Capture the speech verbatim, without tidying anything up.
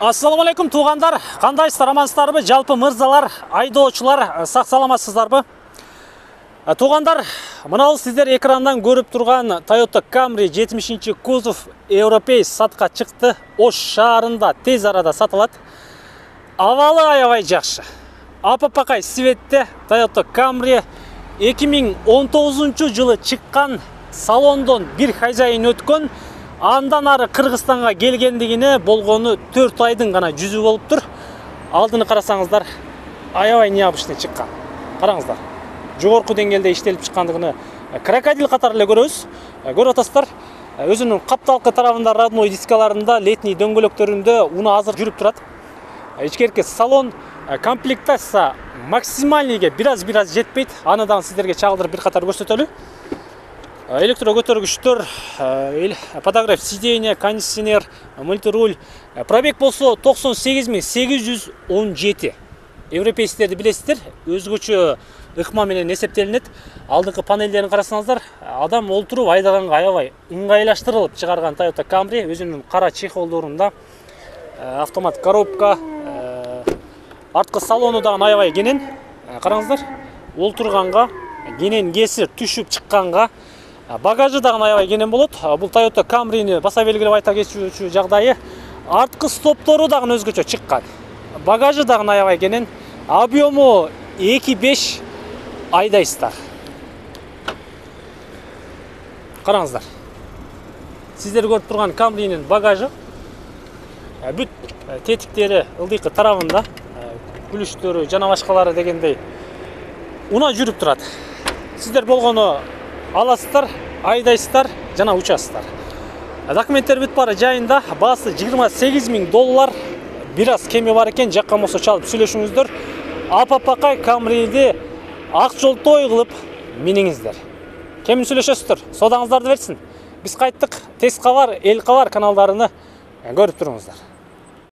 Ассаламу алейкум туугандар, кандайсыздар, амансыздарбы? Жалпы мырзалар, айдоочулар, сак саламатсыздарбы? Туугандар, мына сиздер экрандан көрүп турган Toyota Camry жетимишинчи кузов европей сатка чыкты. Ош шаарында тез арада сатылат. Абалы аябай жакшы. Апапакай светте Toyota Camry эки миң он тогузунчу жылы чыккан, салондон бир хозяин өткөн. Андан ары Кыргызстанга келгендигине болгону төрт айдын гана жүзү болуптур. Алдыны карасаңыздар, аябай необычный чыккан. Караңыздар. Жогорку деңгээлде иштелип чыккандыгыны крокодил катары эле көрөбүз. Көрүп атасыздар. Өзүнүн капталкы тарабында родной дискаларында, летний дөңгөлөктөрүндө уну азыр жүрүп турат. Ичкерки салон комплектация максимальныйге бираз-бираз жетпейт. Аны да сиздерге чагылдырып бир катар көрсөтөлү. Электро көтөргүчтөр, подогрев сиденья, кондиционер, мультируль. Пробег болсо токсон сегиз миң сегиз жүз он жети. Европейсктерди билесиздер, өзгөчө ыкма менен эсептелинет. Алдыңкы панелдерин карасаңыздар, адам олтуруп айдаганга аябай ыңгайлаштырылып чыгарган Toyota Camry, өзүнүн кара чехолдорунда автомат коробка, арткы салону да аябай кенен. Караңыздар, олтурганга, кенен кесир түшүп чыкканга, багажы дагы аябай кенен болот. Бул Toyota Camry'ни баса белгилеп айта кетүүчү жагдайы, арткы стоптору дагы өзгөчө чыккан. Багажы дагы аябай кенен, объему эки беш айдайсыздар. Караңыздар. Сиздер көрүп турган Camry'нин багажы бүт тетиктери ылдыйкы тарабында, күлүштөрү жана башкалары дегендей уна жүрүп турат. Сиздер болгону аласыздар, айдайсыздар жана учасыздар. Документтер бүт баары жайында, баасы жыйырма сегиз миң доллар. Бир аз кеми бар экен, жаккан болсо чалып сүйлөшүңүздөр. Апапакай Camry'ди ак жолтой кылып миниңиздер. Кем сүйлөшөсүздөр? Содаңыздарды берсин. Биз кайттык. Тез кабар, эл кабар каналдарыны көрүп туруңуздар.